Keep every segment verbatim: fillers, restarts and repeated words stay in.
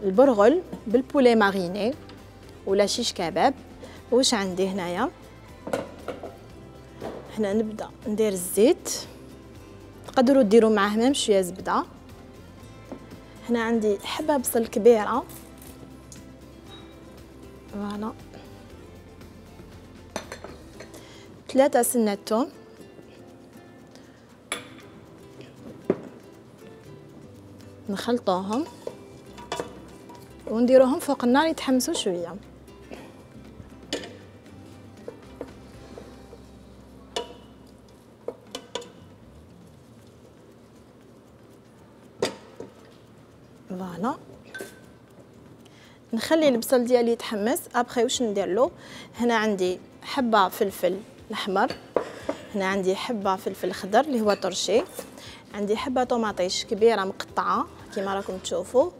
البرغل بالبولي ماريني ولا شيش كباب. واش عندي هنايا؟ هنا نبدا ندير الزيت، تقدروا ديروا معاه ميم شويه زبده. هنا عندي حبه بصل كبيره، فوالا، ثلاثه سنه توم، نخلطوهم ونديروهم فوق النار يتحمسوا شويه. فوالا، نخلي البصل ديالي يتحمس. ابخي واش ندير له؟ هنا عندي حبه فلفل الاحمر، هنا عندي حبه فلفل خضر اللي هو طرشي، عندي حبه طوماطيش كبيره مقطعه كيما راكم تشوفوا،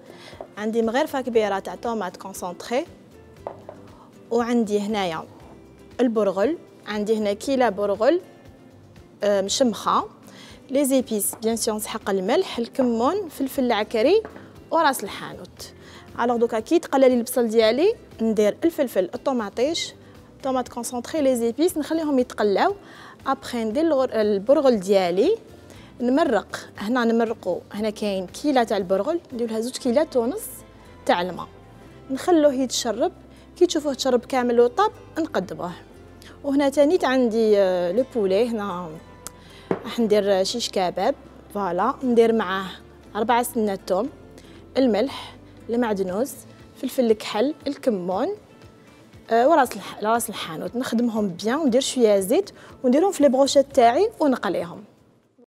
عندي مغرفه كبيره تاع طوماط كونسونطري، وعندي هنايا البرغل، عندي هنا كيله برغل مشمخه، لي زيبيس بيان سور نسحق الملح، الكمون، فلفل العكري وراس الحانوت. الوغ دوكا كي يتقلى لي البصل ديالي ندير الفلفل، الطوماطيش، طوماط كونسونطري، لي زيبيس نخليهم يتقلاو. ابخي ندير البرغل ديالي نمرق. هنا نمرقو، هنا كاين كيله تاع البرغل ندير لها زوج كيلات ونص تاع الماء، نخلوه يتشرب. كي تشوفوه تشرب كامل وطاب نقدموه. وهنا تانيت عندي لو بولي، هنا راح ندير شيش كباب. فوالا، ندير معاه أربعة سنات توم، الملح، المعدنوس، فلفل الكحل، الكمون، أه وراس راس الحانوت. نخدمهم بيان وندير شويه زيت ونديرهم في لي بروشيت تاعي ونقليهم.